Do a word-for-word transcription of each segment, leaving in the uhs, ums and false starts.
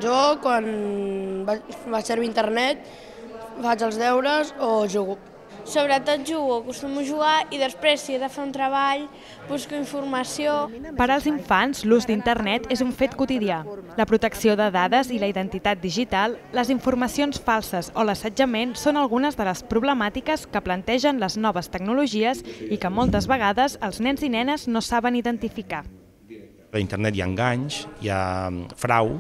Jo, quan vaig servir internet, faig els deures o jugo. Sobretot jugo, acostumo a jugar i després, si he de fer un treball, busco informació. Per als infants, l'ús d'internet és un fet quotidià. La protecció de dades i la identitat digital, les informacions falses o l'assetjament són algunes de les problemàtiques que plantegen les noves tecnologies i que moltes vegades els nens i nenes no saben identificar. A internet hi ha enganys, hi ha frau,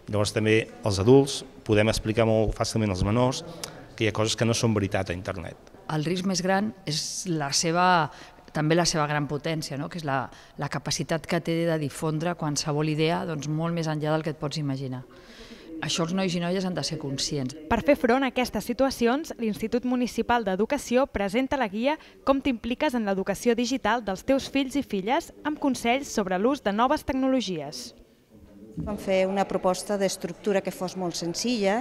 llavors també els adults podem explicar molt fàcilment als menors que hi ha coses que no són veritat a internet. El risc més gran és la seva, també la seva gran potència, no? Que és la, la capacitat que té de difondre qualsevol idea doncs, molt més enllà del que et pots imaginar. Això els nois i noies han de ser conscients. Per fer front a aquestes situacions, l'Institut Municipal d'Educació presenta la guia Com t'impliques en l'educació digital dels teus fills i filles amb consells sobre l'ús de noves tecnologies. Vam fer una proposta d'estructura que fos molt senzilla,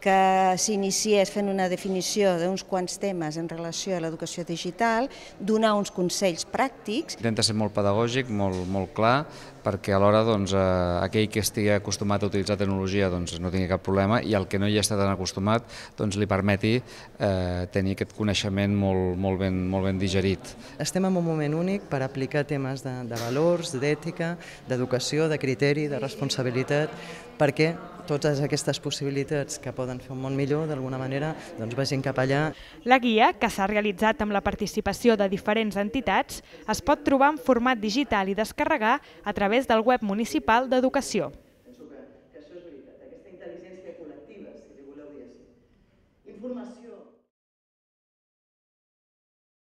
que s'iniciés fent una definició d'uns quants temes en relació a l'educació digital, donar uns consells pràctics. Intenta ser molt pedagògic, molt, molt clar, perquè alhora doncs, eh, aquell que estigui acostumat a utilitzar tecnologia doncs, no tingui cap problema i el que no hi està tan acostumat doncs, li permeti eh, tenir aquest coneixement molt, molt, ben, molt ben digerit. Estem en un moment únic per aplicar temes de, de valors, d'ètica, d'educació, de criteri, de responsabilitat, perquè totes aquestes possibilitats que poden fer un món millor, d'alguna manera, doncs vagin cap allà. La guia, que s'ha realitzat amb la participació de diferents entitats, es pot trobar en format digital i descarregar a través del web municipal d'Educació. Penso que això és veritat, aquesta intel·ligència col·lectiva, si li voleu dir així. Informació